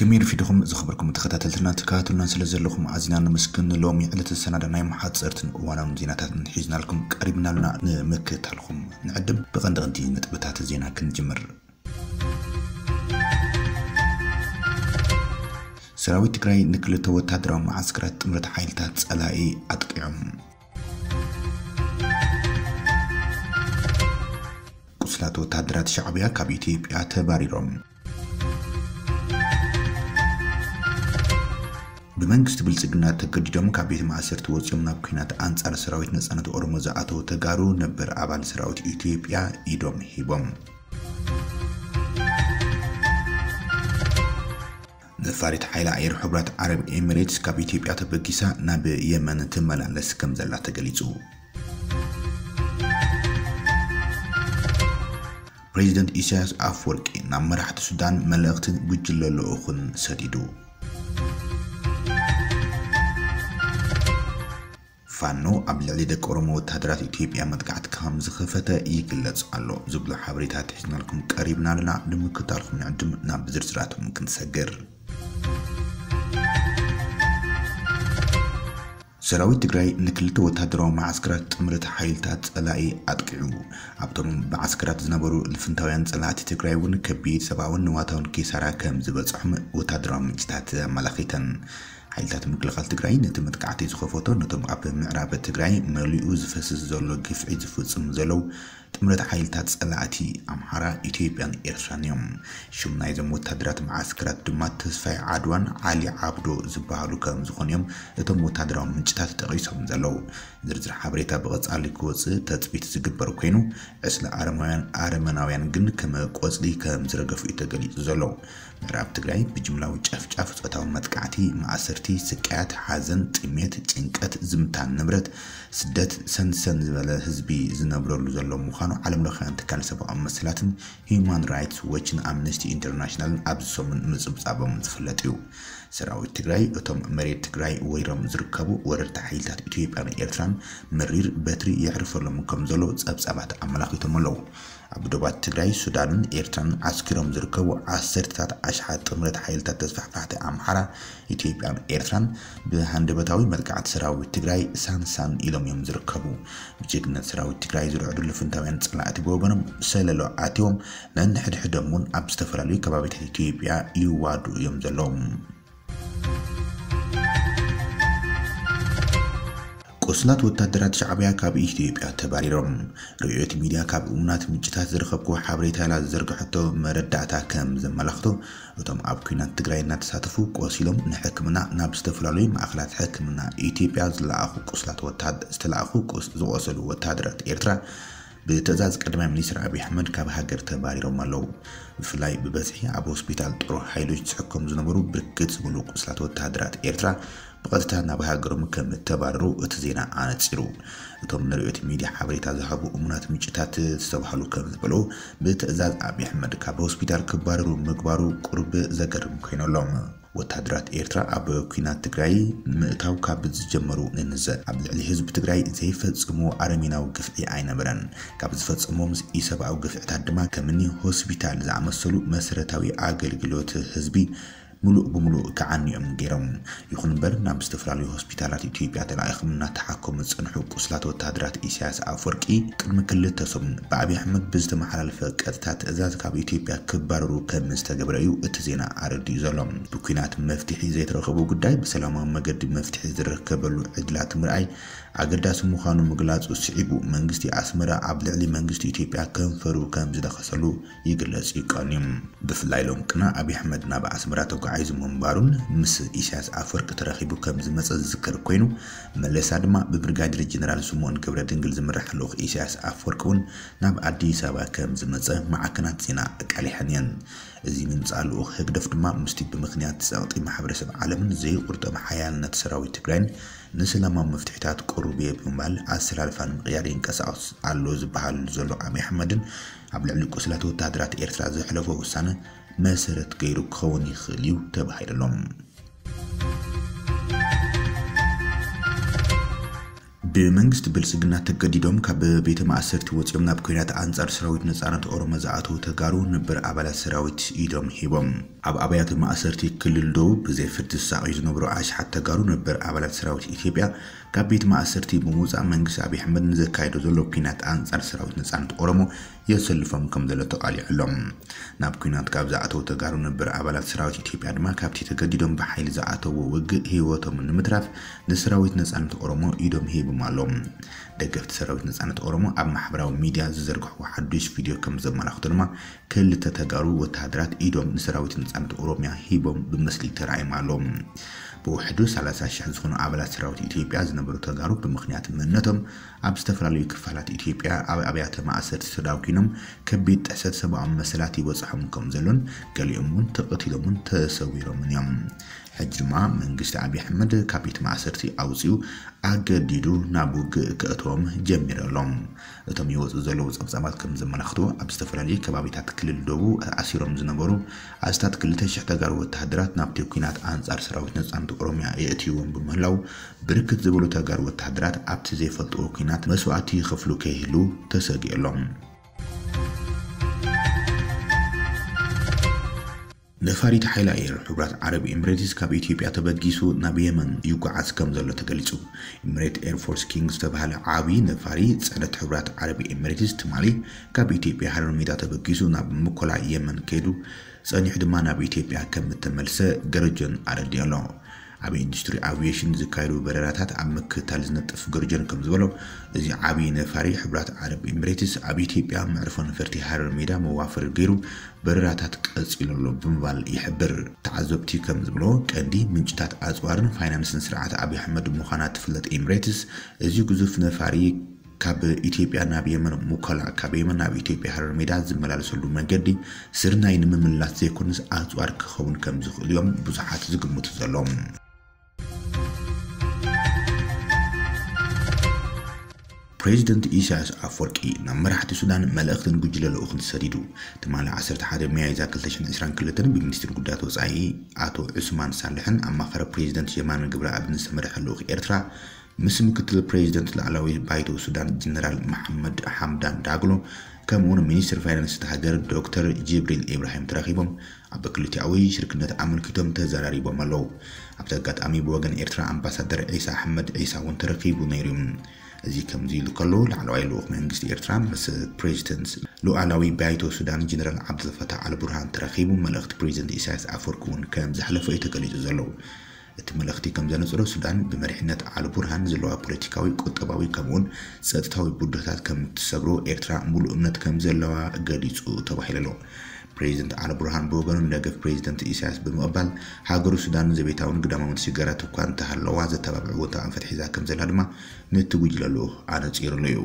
ከመይ ረፊድኩም ዝኸበርኩም ተኸታተልትና፣ ትከታተሉና ስለ ዘለኹም ኣዚና ነመስግን። ሎሚ ዕለተ ሰናዳ ናይ መሓፀርትን እዋናውን ዜናታትን ሒዝናልኩም ቀሪብና ኣለና። ንምክታልኩም ንዕድም። ብቐንዲ ቀንዲ ነጥብታት ዜና ክንጅምር። ሰራዊት ትግራይ ንክልተ ወታደራዊ መዓስከራት ጥምረት ሓይልታት ጸላኢ ኣጥቂዖም። ቁስላት ወታደራት ሻዕብያ ካብ ኢትዮጵያ ተባሪሮም። ብመንግስቲ ብልጽግና ተገዲዶም ካብ ቤት ማእሰርቲ ወጺኦም ናብ ኲናት ኣንጻር ሰራዊት ነጻነት ኦሮሞ ዝኣተዉ ተጋሩ ነበር ኣባል ሰራዊት ኢትዮጵያ ኢዶም ሂቦም። ነፋሪት ሓይሊ ኣየር ሕቡራት ዓረብ ኤሚሬትስ ካብ ኢትዮጵያ ተበጊሳ ናብ የመን ትመላለስ ከም ዘላ ተገሊጹ። ፕሬዚደንት ኢሳያስ ኣፈወርቂ ናብ መራሕቲ ሱዳን መልእኽትን ጉጅለ ልኡኹን ሰዲዱ። ፋኖ ኣብ ልዕሊ ደቂ ኦሮሞ ወታደራት ኢትዮጵያ መጥቃዕቲ ከም ዝኸፈተ ይግለጽ ኣሎ ዝብሉ ሓበሬታት ሒዝናልኩም ቀሪብና ኣለና። ንምክታልኩም ንዕድም። ናብ ዝርዝራቶም ክንሰግር። ሰራዊት ትግራይ ንክልተ ወታደራዊ መዓስከራት ጥምረት ሓይልታት ጸላኢ ኣጥቂዑ። ኣብቶም መዓስከራት ዝነበሩ ልፍንታውያን ጸላእቲ ትግራይ እውን ከቢድ ሰብኣውን ንዋታውን ኪሳራ ከም ዝበጽሖም ወታደራዊ ምንጭታት ኣመላኺተን። ሓይልታት ምክልኻል ትግራይ ነቲ መጥቃዕቲ ዝኸፈቶ ነቶም ኣብ ምዕራብ ትግራይ መሊኡ ዝፈስስ ዘሎ ግፍዒ ዝፍጽሙ ዘለዉ ጥምረት ሓይልታት ጸላእቲ ኣምሓራ፣ ኢትዮጵያን ኤርትራን እዮም። ሽም ናይዞም ወታደራት መዓስከራት ድማ ተስፋይ ዓድዋን ዓሊ ዓብዶ ዝበሃሉ ከም ዝኾኑ እዮም እቶም ወታደራዊ ምንጭታት ጠቒሶም ዘለዉ። ዝርዝር ሓበሬታ ብቐጻሊ ክወጽእ ተጽቢት ዝግበር ኮይኑ፣ ዕስለ ኣረማውያን ኣረመናውያን ግን ከም ቆጽሊ ከም ዝረገፉ እዩ ተገሊጹ ዘሎ። ምዕራብ ትግራይ ብጅምላዊ ጨፍጫፍ፣ ጾታዊ መጥቃዕቲ፣ ማእሰርቲ፣ ስቃያት፣ ሓዘን፣ ጥሜት፣ ጭንቀት፣ ዝምታን ንብረት፣ ስደት፣ ሰንሰን ዝበለ ህዝቢ ዝነብረሉ ዘሎ ምዃኑ ዓለም ለኻውያን ትካል ሰብኣዊ መሰላትን ሂዩማን ራይትስ ዎችን ኣምነስቲ ኢንተርናሽናልን ኣብዚ ሰሙን ምጽብጻቦም ዝፍለጥ እዩ። ሰራዊት ትግራይ እቶም መሬት ትግራይ ወሪሮም ዝርከቡ ወረርቲ ሓይልታት ኢትዮጵያን ኤርትራን መሪር በትሪ የዕርፈሎም ከም ዘሎ ጸብጻባት ኣመላኺቶም ኣለዉ። ኣብ ዶባት ትግራይ፣ ሱዳንን ኤርትራን ዓስኪሮም ዝርከቡ ዓሰርተታት ኣሽሓት ጥምረት ሓይልታት ተስፋሕፋሕቲ ኣምሓራ፣ ኢትዮጵያን ኤርትራን ብሃንደበታዊ መጥቃዕቲ ሰራዊት ትግራይ ሳንሳን ኢሎም እዮም ዝርከቡ። ብጅግነት ሰራዊት ትግራይ ዝርዕዱ ልፍንታውያን ጸላእቲ ብወገኖም ሰለሎ ኣትዮም ነንሕድሕዶም እውን ኣብ ዝተፈላለዩ ከባቢታት ኢትዮጵያ ይዋዱ እዮም ዘለዉ። ቁስላት ወታደራት ሻዕብያ ካብ ኢትዮጵያ ተባሪሮም። ርእዮት ሚድያ ካብ እሙናት ምንጭታት ዝረኸብኩዎ ሓበሬታ ኢላ ዝዘርግሐቶ መረዳእታ ከም ዘመላኽቶ፣ እቶም ኣብ ኲናት ትግራይ እናተሳተፉ ቆሲሎም ንሕክምና ናብ ዝተፈላለዩ ማእኸላት ሕክምና ኢትዮጵያ ዝለኣኹ ቁስላት ወታደ-፣ ዝተለኣኹ ቁስ-፣ ዝቆሰሉ ወታደራት ኤርትራ ብትእዛዝ ቀዳማይ ሚኒስትር ኣብይ ኣሕመድ ካብ ሃገር ተባሪሮም ኣለዉ። ብፍላይ ብበዝሒ ኣብ ሆስፒታል ጦር ሓይሎች ዝሕከሙ ዝነበሩ ብርክት ዝብሉ ቁስላት ወታደራት ኤርትራ ብቐጥታ ናብ ሃገሮም ከም እተባረሩ እቲ ዜና ኣነጺሩ። እቶም ንርእዮት ሚድያ ሓበሬታ ዝሃቡ እሙናት ምንጭታት ዝተባህሉ ከም ዝበልዎ፣ ብትእዛዝ ኣብይ ኣሕመድ ካብ ሆስፒታል ክባረሩ ምግባሩ ቁሩብ ዘገርም ኮይኑሎም። ወታደራት ኤርትራ ኣብ ኲናት ትግራይ ምእታው ካብ ዝጀመሩ ንንዘ ኣብ ልዕሊ ህዝቢ ትግራይ ዘይፈጽምዎ ኣረሜናዊ ግፍዒ ኣይነበረን። ካብ ዝፈጽምዎም ኢሰብኣዊ ግፍዕታት ድማ ከምኒ ሆስፒታል ዝኣመሰሉ መሰረታዊ ኣገልግሎት ህዝቢ ምሉእ ብምሉእ ክዓንዮም ገይሮም። ይኹን እምበር ናብ ዝተፈላለዩ ሆስፒታላት ኢትዮጵያ ተላኢኹም እናተሓከሙ ዝጸንሑ ቁስላት ወታደራት ኢሳያስ ኣፈወርቂ ቅድሚ ክልተ ሰሙን ብኣብይ ኣሕመድ ብዝተመሓላለፈ ቀጥታ ትእዛዝ ካብ ኢትዮጵያ ክባረሩ ከም ዝተገብረ እዩ እቲ ዜና ኣረዲኡ ዘሎ። ብኲናት መፍትሒ ዘይተረኸቡ ጉዳይ ብሰላማዊ መገዲ መፍትሒ ዝረከበሉ ዕድላት ምርኣይ ኣገዳሲ ምዃኑ ምግላጹ ስዒቡ፣ መንግስቲ ኣስመራ ኣብ ልዕሊ መንግስቲ ኢትዮጵያ ከንፈሩ ከም ዝደኸሰሉ ይግለጽ እዩ ቀንዩ። ብፍላይ ሎም ቅነ ኣብይ ኣሕመድ ናብ ኣስመራ ተጓዒዙ ምንባሩን ምስ ኢሳያስ ኣፈወርቂ ተራኺቡ ከም ዝመጸ ዝዝከር ኮይኑ፣ መለሳ ድማ ብብሪጋዴር ጀነራል ስምኦን ገብረ ድንግል ዝምራሕ ልኡኽ ኢሳያስ ኣፈወርቂ እውን ናብ ኣዲስ ኣበባ ከም ዝመጸ ማዕከናት ዜና ኣቃሊሐን እየን። እዚ ምምጻእ ልኡኽ ህግደፍ ድማ ምስቲ ብምኽንያት ጸቕጢ ማሕበረሰብ ዓለምን ዘይቁርጠም ሓያልነት ሰራዊት ትግራይን ንሰላማዊ መፍትሒታት ቅሩብ እየ ብምባል ኣሰላልፋ ንምቕያር ይንቀሳቐስ ኣሎ ዝበሃል ዘሎ ኣብይ ኣሕመድን ኣብ ልዕሊ ቁስላት ወታደራት ኤርትራ ዘሕለፎ ውሳነ መሰረት ገይሩ ክኸውን ይኽእል እዩ ተባሂሉ ኣሎ። ብመንግስቲ ብልጽግና ተገዲዶም ካብ ቤተ ማእሰርቲ ወጺኦም ናብ ኲናት ኣንጻር ሰራዊት ነጻነት ኦሮሞ ዝኣተዉ ተጋሩ ነበር ኣባላት ሰራዊት ኢዶም ሂቦም። ኣብ ኣብያተ ማእሰርቲ ክልል ደቡብ ብዘይ ፍርዲ ዝሳቐዩ ዝነበሩ ኣሽሓት ተጋሩ ነበር ኣባላት ሰራዊት ኢትዮጵያ ካብ ቤት ማእሰርቲ ብምውጻእ መንግስቲ ኣብይ ኣሕመድ ንዘካየዶ ዘሎ ኲናት ኣንጻር ሰራዊት ነጻነት ኦሮሞ የሰልፎም ከም ዘሎ ተቓሊዑሎም። ናብ ኲናት ካብ ዝኣተዉ ተጋሩ ነበር ኣባላት ሰራዊት ኢትዮጵያ ድማ ካብቲ ተገዲዶም ብሓይሊ ዝኣተዎ ውግእ ህይወቶም ንምትራፍ ንሰራዊት ነጻነት ኦሮሞ ኢዶም ሂቦም ኣለዉ። ደገፍቲ ሰራዊት ነጻነት ኦሮሞ ኣብ ማሕበራዊ ሚድያ ዝዘርግሕዎ ሓዱሽ ቪድዮ ከም ዘመላኽቶ ድማ ክልተ ተጋሩ ወተሃደራት ኢዶም ንሰራዊት ነጻነት ኦሮሚያ ሂቦም ብምስሊ ተራእዮም ኣለዉ። ብውሕዱ ሰላሳ ሽሕ ዝኾኑ ኣባላት ሰራዊት ኢትዮጵያ ዝነበሩ ተጋሩ ብምኽንያት መንነቶም ኣብ ዝተፈላለዩ ክፋላት ኢትዮጵያ ኣብ ኣብያተ ማእሰርቲ ተዳጒኖም ከቢድ ጥሕሰት ሰብኣዊ መሰላት ይበጽሖም ከም ዘሎን ገሊኦም እውን ተቐቲሎምን ተሰዊሮምን እዮም። ሕጂ ድማ መንግስቲ ኣብይ ኣሕመድ ካብ ቤት ማእሰርቲ ኣውጺኡ ኣገዲዱ ናብ ውግእ ከእትዎም ጀሚሩ ኣሎ። እቶም ይወጹ ዘለዉ ጸብጻባት ከም ዘመላኽቱ ኣብ ዝተፈላለዩ ከባቢታት ክልል ደቡብ ኣሲሮም ዝነበሩ ኣስታት ክልተ ሽሕ ተጋሩ ወተሃደራት ናብቲ ኲናት ኣንጻር ሰራዊት ነጻነት ኦሮሚያ የእትይዎም ብምህላው ብርክት ዝበሉ ተጋሩ ወተሃደራት ኣብቲ ዘይፈልጥዎ ኲናት መስዋእቲ ይኸፍሉ ከይህሉ ተሰጊኡ ኣሎ። ነፋሪት ሓይሊ ኣየር ሕቡራት ዓረብ ኤምሬትስ ካብ ኢትዮጵያ ተበጊሱ ናብ የመን ይጓዓዝ ከም ዘሎ ተገሊጹ። ኤምሬት ኤርፎርስ ኪንግ ዝተባህለ ዓቢ ነፋሪ ጽዕነት ሕቡራት ዓረብ ኤምሬትስ ትማሊ ካብ ኢትዮጵያ ሃረር ሜዳ ተበጊሱ ናብ ምኮላ የመን ከይዱ ጸኒሑ ድማ ናብ ኢትዮጵያ ከም እተመልሰ ገረጆን ኣረዲኡ ኣሎ። ኣብ ኢንዱስትሪ ኣቪዬሽን ዝካየዱ በረራታት ኣብ ምክትታል ዝነጥፍ ገርጀን ከም ዝበሎ፣ እዚ ዓብዪ ነፋሪ ሕቡራት ዓረብ ኤምሬትስ ኣብ ኢትዮጵያ መዕርፎ ነፈርቲ ሃረር ሜዳ መዋፈሪ ገይሩ በረራታት ቀጺሉ ኣሎ ብምባል ይሕብር። ተዓዘብቲ ከም ዝብሎ፣ ቀንዲ ምንጭታት ኣጽዋርን ፋይናንስን ስርዓት ኣብይ ኣሕመድ ምዃና ትፍለጥ ኤምሬትስ፣ እዚ ግዙፍ ነፋሪ ካብ ኢትዮጵያ ናብ የመን ሙከላ፣ ካብ የመን ናብ ኢትዮጵያ ሃረር ሜዳ ዝመላለሰሉ መንገዲ ስርናይ ንምምላስ ዘይኮነስ ኣጽዋር ክኸውን ከም ዝኽእል እዮም ብዙሓት ዝግምቱ ዘለዉ። ፕሬዚደንት ኢሳያስ ኣፈወርቂ ናብ መራሕቲ ሱዳን መልእኽትን ጉጅለ ልኡኽን ሰዲዱ። ትማሊ ዓሰርተ ሓደ ሚያዝያ ክልተ ሽሕን ዕስራን ክልተን ብሚኒስትሪ ጉዳያት ወጻኢ ኣቶ ዑስማን ሳልሕን ኣማኻሪ ፕሬዚደንት የማነ ገብረኣብን ዝተመርሐ ልኡኽ ኤርትራ ምስ ምክትል ፕሬዚደንት ላዕላዊ ባይቶ ሱዳን ጀነራል መሓመድ ሓምዳን ዳግሎ ከምኡውን ሚኒስትር ፋይናንስ እታ ሃገር ዶክተር ጅብሪል ኢብራሂም ተራኺቦም ኣብ ክልቲኣዊ ሽርክነት ኣመልኪቶም ተዘራሪቦም ኣለዉ። ኣብቲ ኣጋጣሚ ብወገን ኤርትራ ኣምባሳደር ዒሳ ኣሕመድ ዒሳ እውን ተረኺቡ ነይሩ እዩ። እዚ ከምዚ ኢሉ ከሎ ላዕለዋይ ልኡኽ መንግስቲ ኤርትራ ምስ ፕሬዚደንት ሉኣላዊ ባይቶ ሱዳን ጀነራል ዓብዱልፈታሕ ኣልቡርሃን ተራኺቡ መልእኽቲ ፕሬዚደንት ኢሳያስ ኣፈወርቂ እውን ከም ዘሕለፎ እዩ ተገሊጹ ዘሎ። እቲ መልእኽቲ ከም ዘነጽሮ፣ ሱዳን ብመሪሕነት ኣል ቡርሃን ዘለዋ ፖለቲካዊ፣ ቁጠባዊ ከምኡውን ጸጥታዊ ብድሆታት ከም እትሰግሮ ኤርትራ ሙሉእ እምነት ከም ዘለዋ ገሊጹ ተባሂሉ ኣሎ። ፕሬዚደንት ኣል ቡርሃን ብወገኑ ንደገፍ ፕሬዚደንት ኢሳያስ ብምቕባል፣ ሃገሩ ሱዳን ዘቤታውን ግዳማውን ስግጋራት እኳ እንተሃለዋ፣ ዘተባብዕ እወንታዊ ኣንፈት ሒዛ ከም ዘላ ድማ ነቲ ጉጅለ ልኡኽ ኣነጺሩሉ እዩ።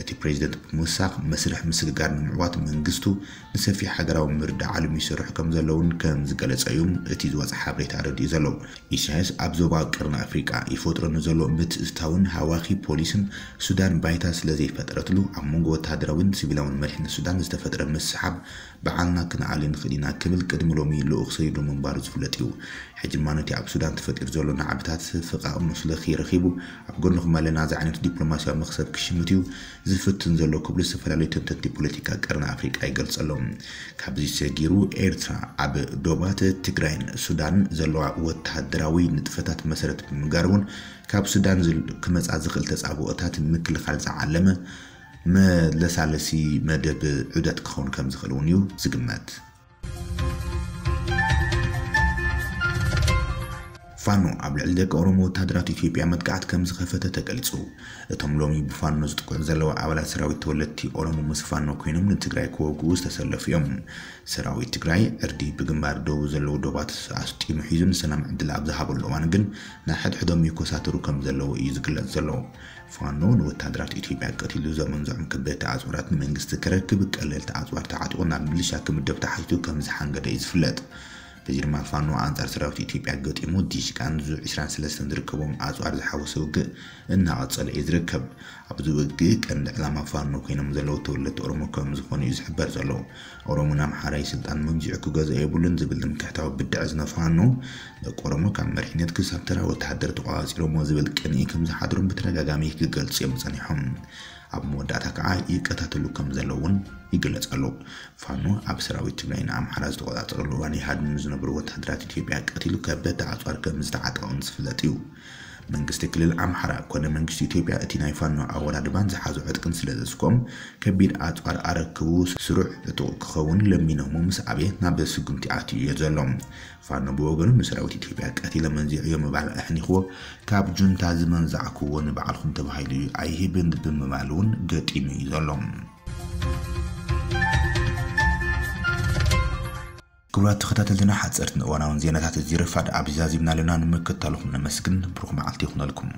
እቲ ፕሬዚደንት ብምውሳኽ፣ መስርሕ ምስግጋር ንምዕዋት መንግስቱ ንሰፊሕ ሃገራዊ ምርድዳእ ዓለም ይሰርሑ ከም ዘለውን ከም ዝገለጸ እዩ እቲ ዝወጸ ሓበሬታ ኣረዲኡ ዘሎ። ኢሳያስ ኣብ ዞባ ቀርኒ ኣፍሪቃ ይፈጥሮ ንዘሎ ምትእትታውን ሃዋኺ ፖሊስን ሱዳን ባይታ ስለ ዘይፈጠረትሉ፣ ኣብ መንጎ ወተሃደራዊን ሲቪላውን መሪሕነት ሱዳን ዝተፈጥረ ምስሓብ ባዕልና ክንኣሊ ንኽእል ኢና ክብል ቅድሚ ሎሚ ልኡኽ ሰዲዱ ምንባሩ ዝፍለጥ እዩ። ሕጂ ድማ ነቲ ኣብ ሱዳን ተፈጢሩ ዘሎ ናዕብታት ፈቓቕ መስለኺ ረኺቡ፣ ኣብ ጎንኹም ኣለና ዝዓይነቱ ዲፕሎማስያዊ መኽሰብ ክሽምት እዩ ዝፍትን ዘሎ ክብሉ ዝተፈላለዩ ተንተንቲ ፖለቲካ ቀርኒ ኣፍሪቃ ይገልጹ ኣለዉ። ካብዚ ሰጊሩ ኤርትራ ኣብ ዶባት ትግራይን ሱዳን ዘለዋ ወተሃደራዊ ንጥፈታት መሰረት ብምግባር እውን ካብ ሱዳን ዝል-፣ ክመጻ ዝኽእል ተጻብኦታት ንምክልኻል ዝዓለመ መለሳለሲ መደብ ዑደት ክኸውን ከም ዝኽእል እውን እዩ ዝግመት። ፋኖ ኣብ ልዕሊ ደቂ ኦሮሞ ወተሃደራት ኢትዮጵያ መጥቃዕቲ ከም ዝኸፈተ ተገሊጹ። እቶም ሎሚ ብፋኖ ዝጥቅዑ ዘለዉ ኣባላት ሰራዊት ተወለድቲ ኦሮሞ ምስ ፋኖ ኮይኖም ንትግራይ ክወግኡ ዝተሰለፉ እዮም። ሰራዊት ትግራይ ዕርዲ ብግንባር ደቡብ ዘለዉ ዶባት ኣስጢሙ ሒዙ ንሰላም ዕድል ኣብ ዝሃበሉ እዋን ግን ንሓድሕዶም ይኮሳተሩ ከም ዘለዉ እዩ ዝግለጽ ዘሎ። ፋኖ ንወተሃደራት ኢትዮጵያ ቀቲሉ ዘመንዝዖም ከበድቲ ኣጽዋራት ንመንግስቲ ከረክብ ቀለልቲ ኣጽዋር ተዓጢቑ ናብ ሚሊሻ ክምደብ ተሓቲቱ ከም ዝሓንገደ እዩ ዝፍለጥ። እዚ ድማ ፋኖ ኣንጻር ሰራዊት ኢትዮጵያ ገጢሙ ዲሽቃን ዙ ዕስራን ሰለስተን ዝርከቦም ኣጽዋር ዝሓወሰ ውግእ እናቐጸለ እዩ ዝርከብ። ኣብዚ ውግእ ቀንዲ ዕላማ ፋኖ ኮይኖም ዘለዉ ተወለድቲ ኦሮሞ ከም ዝኾኑ እዩ ዝሕበር ዘሎ። ኦሮሞን ኣምሓራይ ስልጣን መንዚዑ ክገዝኦ የብሉን ዝብል ትምክሕታዊ ብድዐ ዝነፋኖ ደቂ ኦሮሞ ካብ መሪሕነት ክሳብ ተራ ወተሃደር ተቆጻጺሮሞ ዝብል ቅንኢ ከም ዝሓድሮም ብተደጋጋሚ ክገልጹ እዮም ጸኒሖም። ኣብ መወዳእታ ከዓ ይቀታተሉ ከም ዘለውን ይግለጽ ኣሎ። ፋኖ ኣብ ሰራዊት ትግራይ ንኣምሓራ ዝተቆጻጸረሉ እዋን ይሃድኑ ዝነበሩ ወተሃደራት ኢትዮጵያ ቀቲሉ ከበድቲ ኣጽዋር ከም ዝተዓጠቐን ዝፍለጥ እዩ። መንግስቲ ክልል ኣምሓራ ኮነ መንግስቲ ኢትዮጵያ እቲ ናይ ፋኖ ኣወዳድባን ዝሓዞ ዕጥቅን ስለ ዘስኮም ከቢድ ኣጽዋር ኣረክቡ ስሩዕ ዕጡቕ ክኸውን ለሚኖሞ ምስ ኣበየ ናብ ስጉምቲ ኣትዩ እዮ ዘሎ። ፋኖ ብወገኑ ንሰራዊት ኢትዮጵያ ቀቲለ መንዚዑ እዮ ምባል ኣሕኒኽዎ ካብ ጁንታ ዝመንዛዕክዎ ንባዕልኹም ተባሂሉ እዩ ኣይህብን ብምባል እውን ገጢሙ እዩ ዘሎ። ክቡራት ተኸታተልትና ሓፀርትን እዋናውን ዜናታት እዚ ረፋድ ኣብዚ ዛዚምና ኣለና። ንምክትታልኹም ነመስግን። ብሩኽ መዓልቲ ይኹነልኩም።